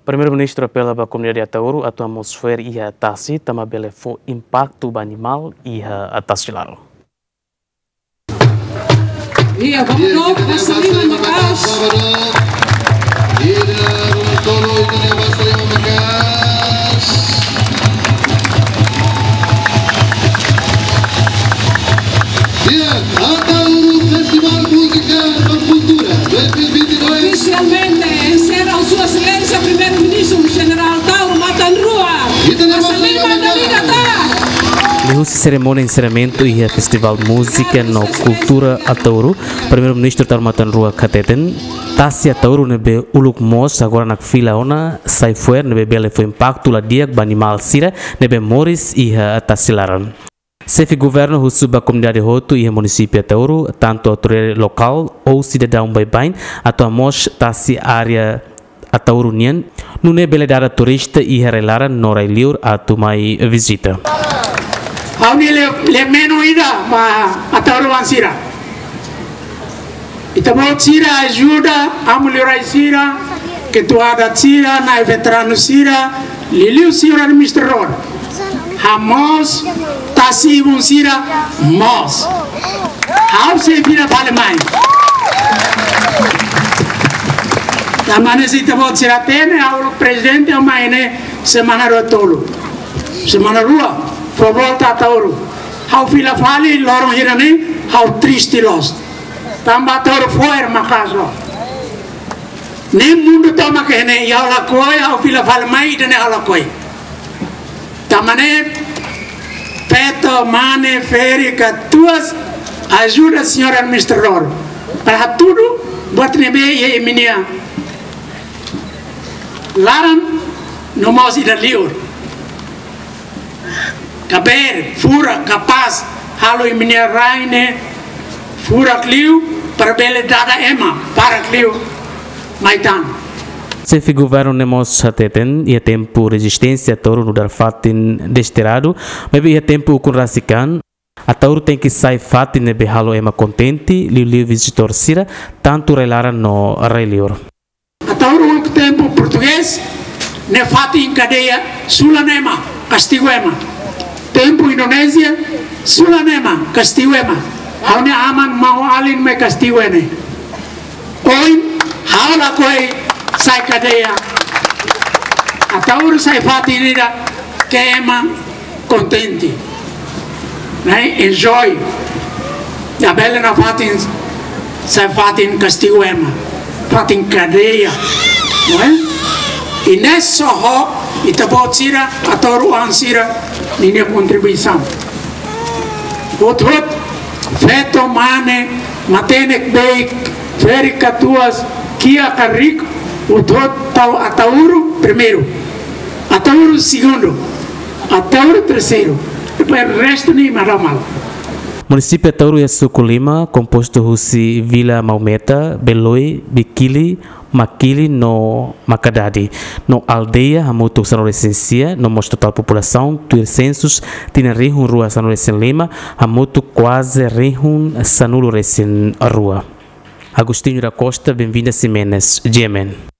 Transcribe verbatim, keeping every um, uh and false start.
Primeiru-Ministru apela ba komunidade Ataúro atu hamoos fo'er iha tasi, tanba bele fó impaktu ba animál iha tasi laran. Iya, vamos dong, basa liman maka'as. Iya, vamos dong, itu dia, basa liman maka'as. Iya, Ataúro Festival Música com Cultura dois mil e vinte e dois. Oficialmente encerra Sua Excelência Primeiru-Ministru Jenerál Taur Matan Ruak. Basa liman maka'as. Liuhusi serimónia enserramentu iha Festival Múzika no Kultura Ataúro, Primeiru-Ministru Taur Matan Ruak hateten, tasi Ataúro ne'ebé uluk moos agora nakfila ona sai fo'er ne'ebé bele fó impaktu la di'ak ba animál sira ne'ebé moris iha tasi laran. Xefe Governu husu ba komunidade hotu iha munisípiu Ataúro, tantu autoridade lokál ou sidadaun baibain, atu hamoos tasi área Ataúro nian, nune'e bele dada turista iha rai-laran no rai-liur atu mai vizita. Ha'u-nia le-, lemeno ida ba Ataúroan sira. Ita-boot sira ajuda amu liurai sira, ketua adat sira, na'i veteranu sira, liuliu señór administradór. Hamoos tasi-ibun sira moos. Ha'u sei fila fali mai. Tanba ne'e se ita-boot sira hatene, ha'u prezidente ha'u mai ne'e semana rua tolu. Semana rua, fó volta Ataúro. Ha'u fila fali loron hira-ne'e, ha'u triste loos. Tanba Ataúro fo'er maka'as loos. Ne'e mundu tomak iha ne'e, ha'u lakohi, ha'u fila fali mai, ida-ne'e ha'u lakohi. Tanba ne'e, feto, mane, ferik, katuas, ajuda señór administradór. Para hatudu buat ne'ebé iha imi-nia laran no mós ida liur. Kabeer, furak, kapás, halo imi-nia rai ne'e furak liu, para bele dada ema barak liu mai tan. Xefe Governu ne'e mós hateten, iha tempu rezisténsia Ataúro nu'udar fatin destiradu, maibé iha tempu ukun rasik an, Ataúro tenke sai fatin ne'ebé halo ema kontente, liuliu vizitór sira, tantu rai-laran no rai-liur. Ataúro uluk tempu portugés, ne'e fatin kadeia, sulan ema, kastigu ema. Tempu Indonézia, sulan ema, kastigu ema. Ha'u-nia aman maun-alin mai kastigu ne'e. Ohin, ha'u lakohi sai kadeia. Ataúro sai fatin ida ke ema kontente. Ne'e, enjoy. Labele nafatin, sai fatin kastigu ema. Fatin kadeia. Não é? I ne'e só ho, ita-boot sira, Ataúroan sira, ninia kontribuisaun. Hotu-hotu, feto, mane, matenek, beik, ferik, katuas, kiak ka riku, hotu-hotu tau Ataúro primeiru, Ataúro segundu, Ataúro terseiru, depois restu ne'e maromal. Munisípiu Ataúro iha suku lima, kompostu husi Vila Maumeta, Beloi, Bikili, Makili no Makadadi. No aldeia hamutuk sanulu-resin-sia, no mós totál populasaun, tuir sensus, tinan rihun rua sanulu-resin-lima, hamutuk kuaze rihun sanulu-resin-rua. Agostinho da Costa, Benvinda Ximenes, G M N.